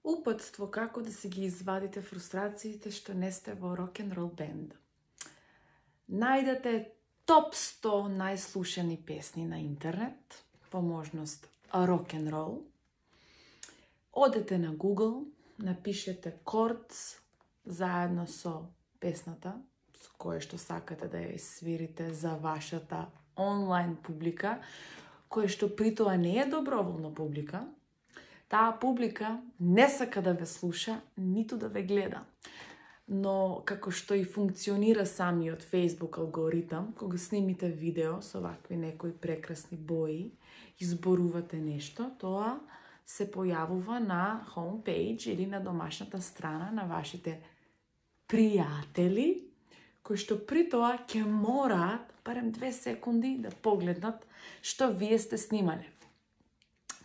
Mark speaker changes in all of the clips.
Speaker 1: Упатство како да си ги извадите фрустрациите што не сте во рок-н-рол бенд. Најдете топ 100 најслушани песни на интернет, по можност рок-н-рол. Одете на Google, напишете chords заедно со песната, со која што сакате да ја свирите за вашата онлайн публика, која што при тоа не е доброволна публика. Таа публика не сака да ве слуша, ниту да ве гледа. Но како што и функционира самиот Facebook алгоритам, кога снимите видео со вакви некои прекрасни бои, изборувате нешто, тоа се појавува на homepage или на домашната страна на вашите пријатели, кои што при тоа ќе мораат барем 2 секунди да погледнат што вие сте снимале.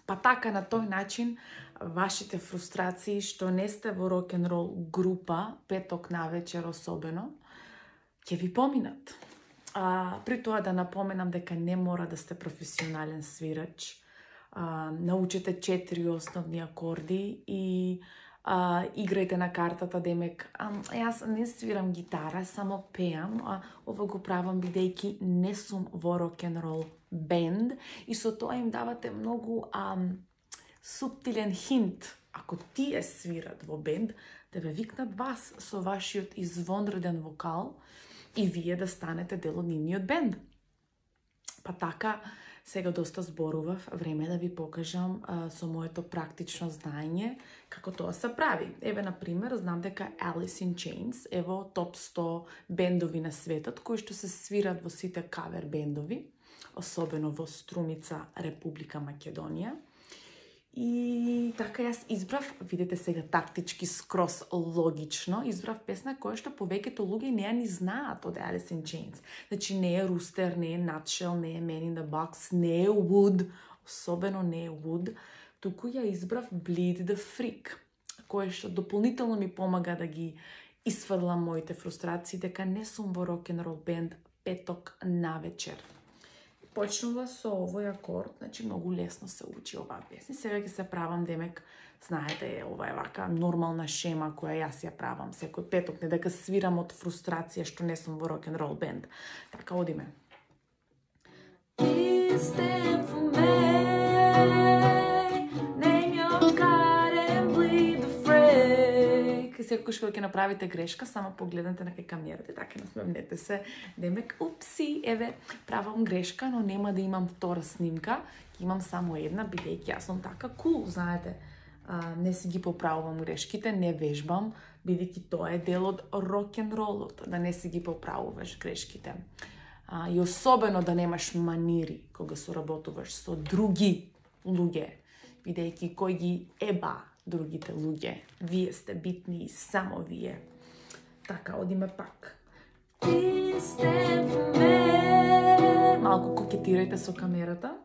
Speaker 1: Па така на тој начин вашите фрустрации што не сте во рок-н-рол група, петок навечер особено, ќе ви поминат. При тоа да напоменам дека не мора да сте професионален свирач. Научете 4 основни акорди и играјте на картата, демек, јас не свирам гитара, само пеам, ова го правам бидејќи не сум во рок-н-рол бенд и со тоа им давате многу суптилен хинт, ако тие свират во бенд, да ве викнат вас со вашиот извонреден вокал и вие да станете дел од нивниот бенд. Па така, сега доста зборував, време да ви покажам со моето практично знаење како тоа се прави. Еве, например, знам дека Alice in Chains е во топ 100 бендови на светот, кои што се свират во сите кавер бендови, особено во Струмица, Република Македонија. И така јас избрав, видите сега тактички скрос логично, избрав песна која што повеќето луѓе не ја ни знаат од Alice in Chains. Значи не е Rooster, не е Nutshell, не е Man in the Box, не е Wood, особено не е Wood, туку ја избрав Bleed the Freak, која што дополнително ми помага да ги исфрлам моите фрустрации дека не сум во рок-н-рол бенд петок навечер. Почнува со овој акорд, значи многу лесно се учи оваа песна. Сега ќе се правам, демек, знаете, ова е вака нормална шема која јас ја правам секој петок, не дека свирам од фрустрација што не сум во рок-н-рол бенд. Така, одиме. Секој што ќе направите грешка, само погледнете на кај камерата и така насмевнете се. Демек, упси, еве, правам грешка, но нема да имам втора снимка, имам само една, бидејќи јас сум така кул, знаете. Не си ги поправувам грешките, не вежбам, бидејќи тоа е дел од рок-н-ролот, да не си ги поправуваш грешките. И особено да немаш манири кога соработуваш со други луѓе, бидејќи кој ги еба другите луѓе. Вие сте битни и само вие. Така, одиме пак. Малку кокетирајте со камерата.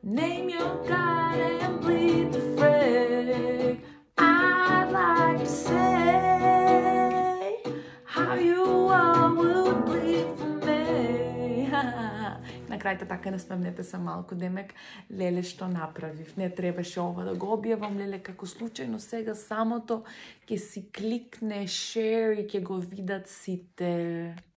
Speaker 1: Name your God and bleed the freak. I'd like to say how you all would bleed for me. На крајта така насмевнете се малку, демек, леле што направив. Не требаше ова да го објавам, леле, како случајно сега самото ќе си кликне share и ќе го видат сите.